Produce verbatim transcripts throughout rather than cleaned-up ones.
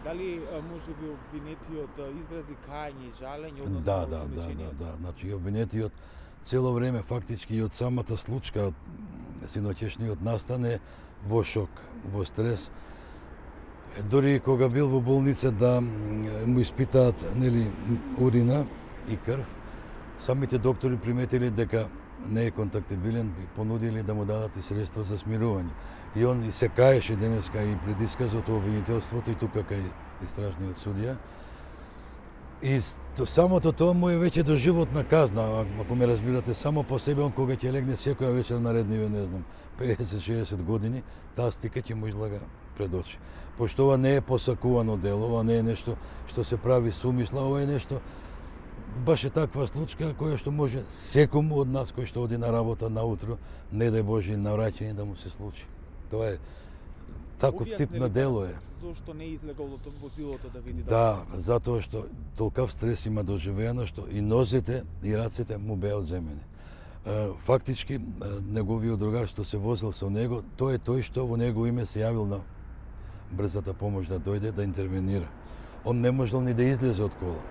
Дали можеби обвинетиот изрази кајање и жалење односно Да, да, да, да, да. Значи обвинетиот цело време фактички и од самата случка, синоќешниот настане во шок, во стрес. Дори кога бил во болница да му испитаат нели урина и крв, самите доктори приметили дека не е контактибилен и понудили да му дадат и средства за смирување. И он и се каеше денеска и пред исказот обвинителството и тука кај истражниот судија. И то, самото тоа му е веќе доживотна казна, ако ме разбирате, само по себе он кога ќе легне секоја вечер наредниве, не знам, педесет-шеесет години, таа стика ќе му излага пред очи. Пошто ова не е посакувано дело, ова не е нешто што се прави сумисла, ова е нешто баш е таква случка која што може секому од нас кој што оди на работа наутро, не дај Боже на враќање да му се случи. Тоа е таков тип на дело е. Зошто не излегол од возилото да види? Да, затоа што толкав стрес има доживеано што и нозете и рацете му беа одземени. Фактички неговиот другар што се возил со него, тој е тој што во него име се јавил на брзата помош да дојде да интервенира. Он не можел ни да излезе од кола.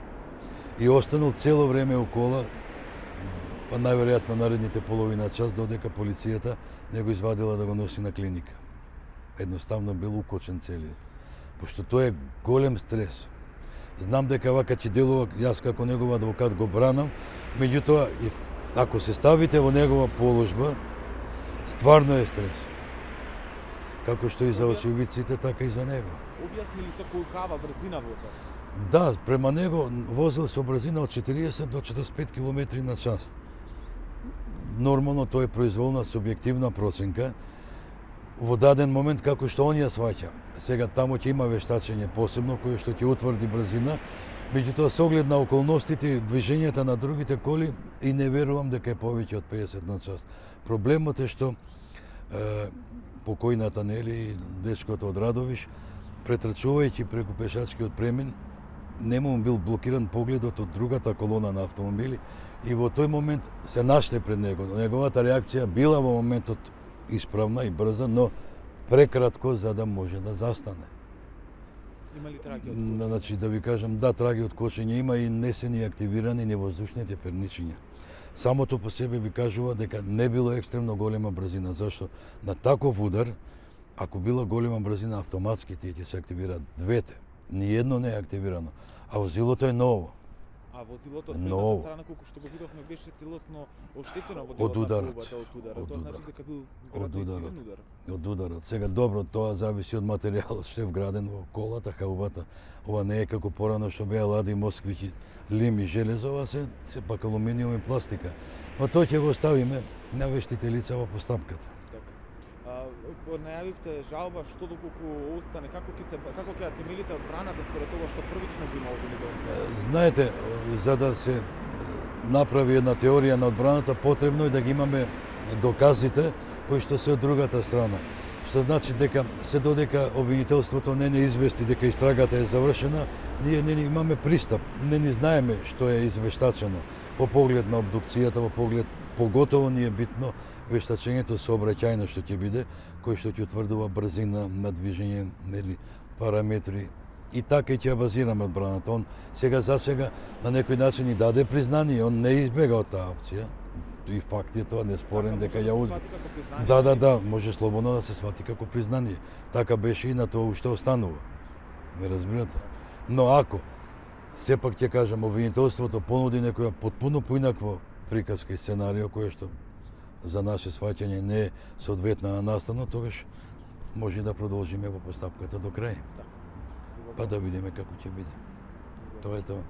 И останал цело време у кола, па најверојатно наредните половина час додека полицијата не го извадила да го носи на клиника. Едноставно бил укочен целиот. Пошто тоа е голем стрес. Знам дека вака ќе делува, јас како негов адвокат го бранам, меѓутоа, ако се ставите во негова положба, стварно е стрес. Како што и за очевидците, така и за него. Објаснили со колкава брзина возел? Да, према него возел со брзина од четириесет до четиридесет и пет километри на час. Нормално тоа е произволна субјективна проценка во даден момент како што он ја сваќа. Сега таму ќе има вештачење посебно кој што ќе утврди брзина, меѓутоа со оглед на околностите и движењата на другите коли и не верувам дека е повеќе од педесет на час. Проблемот е што е, покојната нели дечкото од Радовиш претрчувајќи преку пешачкиот премин нему бил блокиран погледот од другата колона на автомобили и во тој момент се нашле пред него. Неговата реакција била во моментот исправна и брза, но прекратко за да може да застане. Има ли траги од кошење? Значи, да ви кажам, да, траги од кошење има и не се ни активирани ни воздушните перничиња. Самото по себе ви кажува дека не било екстремно голема брзина. Зашто? На таков удар, ако била голема брзина, автоматски тие ќе се активираат двете. Ниедно не е активирано. А возилото е ново. А возилото од предната страна, колку што го видовме, беше целосно оштетено во делот на колбата од ударот. Тоа значи дека бил вграден силен удар. Од ударот. Сега добро, тоа зависи од материјалот што е вграден во колата, хаубата. Ова не е како порано што беа лади, москвичи, лим и железо, ова се сепак алуминиум и пластика. Но тоа ќе го оставиме на вештите лица во постапката. Најавивте жалба, што доколку остане, како ќе се како ќе темелите одбраната според тоа што првично би имало недостаток? Знаете, за да се направи една теорија на одбраната, потребно е да ги имаме доказите кои што се од другата страна. Што значи дека се додека обвинителството не не извести дека истрагата е завршена, ние не имаме пристап, не ни знаеме што е извештачено во поглед на обдукцијата, во поглед поготово ни е битно вештачењето сообраќајно што ќе биде, кој што ќе утврдува брзина на движење, нели, параметри. И така и ќе ја базираме одбраната. Он сега за сега на некој начин и даде признание, он не избега од таа опција. И факт е тоа, не спорен дека ја уди. Да, да, да, може слободно да се свати како признание. Така беше и на тоа уште останува. Не разбирате? Но ако сепак ќе кажам, обвинителството понуди некоја потпуно поинаква приказка и сценарио кој што за наше сваќање не е соодветна на настано, тогаш може да продолжиме во постапката до крај. Па да видиме како ќе биде. Тоа е тоа.